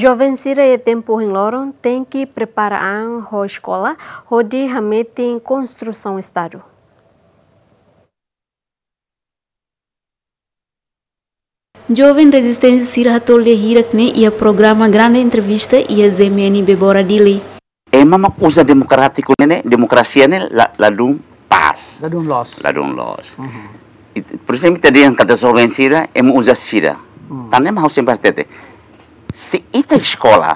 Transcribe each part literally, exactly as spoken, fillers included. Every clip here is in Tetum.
Joven sira iha tempu ohin loron tenke prepara an ho eskola, hodi hametin konstrusaun Estadu. Joven rezisténsia sira hato'o lia hirak ne'e iha programa Grande Entrevista iha Z M N Bebora Dili. Ema mak uza demokrátiku ne'e, demokrasia ne'e la, ladún pás. Ladún loos. Ladún loos. Mhm. It-, por ezemplu, ita dehan katak joven sira, ema uza sira. Hmm. Tan ne'e mak ha'u sempre hatete. Se ita eskola,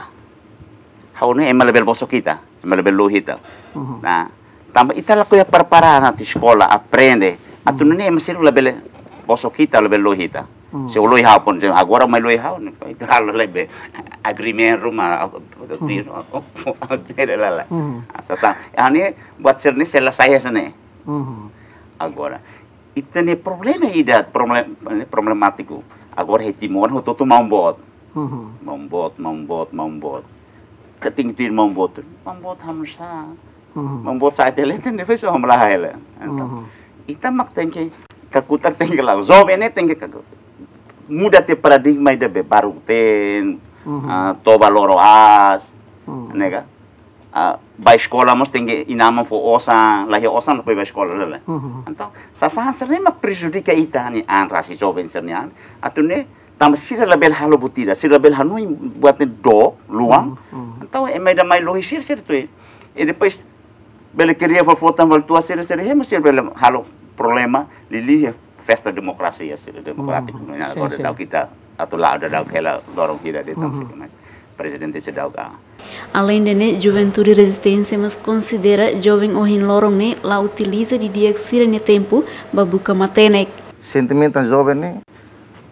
ha'u ne'e ema labele bosok ita, ema labele lohi ita. Mhm. Nah, tanba ita lakohi prepara atu eskola, aprende. Atu Mhm. nune'e ema sira labele bosok ita, labele lohi ita. Mhm. Se lohi ha'u pun, se agora mai lohi ha'u, ne'e, ita halo lebe agreement ruma, Mhm. tiro, tiro lala. Mhm. Sasán, ne'e buat sira-ne'e sei la sai hanesan ne'e. Mhm. Agora, ita-nia problema ida, problem-, problemátiku. Agora iha Timor, hotu-hotu maun-boot. Mhm. Maun-boot, maun-boot, maun-boot. Kating tuir maun-boot. Maun-boot hamsa. Mhm. Maun-boot sa'e tele, tende fez o hamlaha ela. Entaun, Mhm. ita mak tenke, kakutak tenke la'o. Joven ne'e tenke kaku-, muda tiha paradigma ida be baruk-teen, Mhm. ah, toba loro aas, Mhm. ne'e ka? Ah, bá eskola mós tenke inan-aman fó osan, la iha osan depois bá eskola, lae. Mhm. Entaun, sasán sira-ne'e mak prejudika ita-nia an rasik joven sira-nia an. Atu nune'e, tanba sira labele halo buat ida, sira labele hanoin buat ne'e dook, luan. Mhm, mhm. Entaun, ema ida mai lohi sira, sira tuir. I depois, bele kria fó fota valtua sira, sira, ema sira bele halo problema, liuliu iha festa demokrasia, sira demokrátiku, Mhm, ne'e, sin, agora sin. Daudaun ita, atu la'o daudaun hela loron hira de'it, Mhm. sira mas. Prezidente seidauk. Aleinde ne'e, juventude rezisténsia mós konsidera joven ohin loron ne'e la utiliza didi'ak sira-nia tempu ba buka matenek. Sentimentu joven ne'e,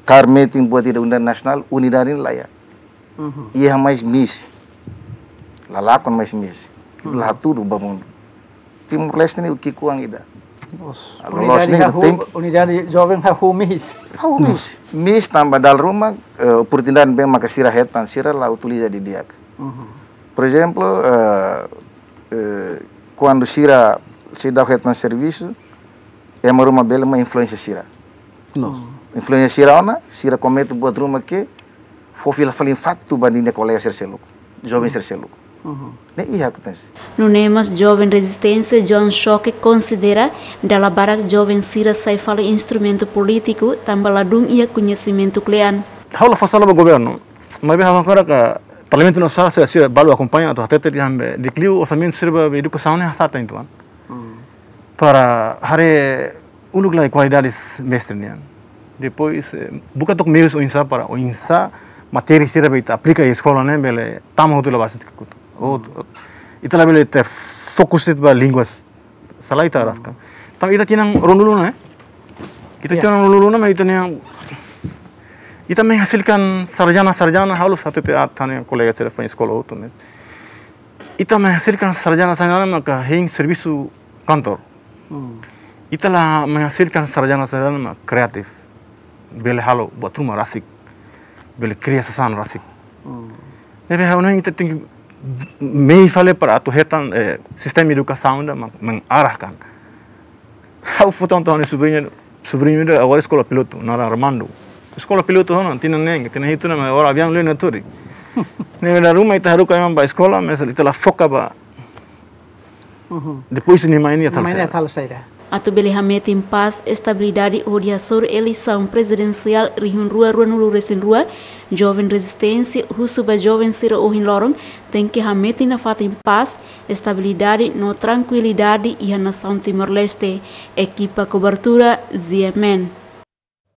kaer metin buat ida unidade nasionál, unidade ne'e la iha. Mhm. Iha mais miss. La lakon mais miss. Ita la Mhm. hatudu ba mundu. Timor-Leste ne'e ki'ikoan ida. Loos. Alo, loos Unidade ne'e hahú, tenke. Unidade joven hahú miss. Hahú miss. Miss tanba dala ruma, eh, oportunidade ne'ebé maka sira hetan, sira la utiliza didi'ak. Mhm. Por ezemplu, eh, eh, kuandu sira seidauk hetan servisu, ema ruma bele mai influénsia sira. Loos. Influénsia sira ona, sira komete buat ruma ke fó fila fali impaktu ba ninia kolega sira seluk, joven sira seluk. Mhm. Ne'e iha akontese. Nune'e mós joven rezisténsia John Choque konsidera dala barak joven sira sai fali instrumentu polítiku tanba ladún iha koñesimentu kle'an. Ha'u la fó sala ba governu, maibé ha'u hakarak katak Parlamentu Nasionál sira, sira balu akompaña atu hatete dehan be, di'ak liu orsamentu sira ba edukasaun ne'e hasa'e tan ituan. Hmm. Para haree uluk lai kualidade mestre nian. Depois, eh, buka took meius oinsá para, oinsá matéria sira be ita aplika iha eskola ne'e bele tama hotu la basa tika kutu. Ou, ita labele ita fokus de'it ba línguas. Sala ita araskan. Tanba ita tinan ruanulu ona, eh? Ita Ya. tinan ruanulu ona, maibé ita-nia, ita menghasilkan sarjana-sarjana, ha'u la hatete atan kolega sira foin eskola hotu, maibé ita menghasilkan sarjana-sarjana maka hein servisu kantor. Hmm. Ita la menghasilkan sarjana-sarjana mak kreatif. Bele halo buat ruma rasik. Bele kria sasán rasik. Hmm. Ne'ebé ha'u hanoin ita tenke mehi fali para atu hetan, eh, sistema edukasaun ida mak mengarahkan. Ha'u fó tan to'o ha'u-nia sobriñu, sobriñu ida agora eskola pilotu, naran Armando. Eskola pilotu ona, tinan neen, tinan hitu ona, maibé agora aviaun liu nia tuur. Ne'ebé dala ruma ita haruka ema ba eskola, maibé ita la foka ba. Mhm. Depois nia mai nia Nia mai nia halo saida. halo saida. Atu bele hametin pás, estabilidade hodi hasoru eleisaun prezidensiál rihun rua ruanulu resin rua, joven rezisténsia husu ba joven sira ohin loron tenke hametin nafatin pás, estabilidade no trankuilidade iha nasaun Timor-Leste. Ekipa kobertura, Z M N.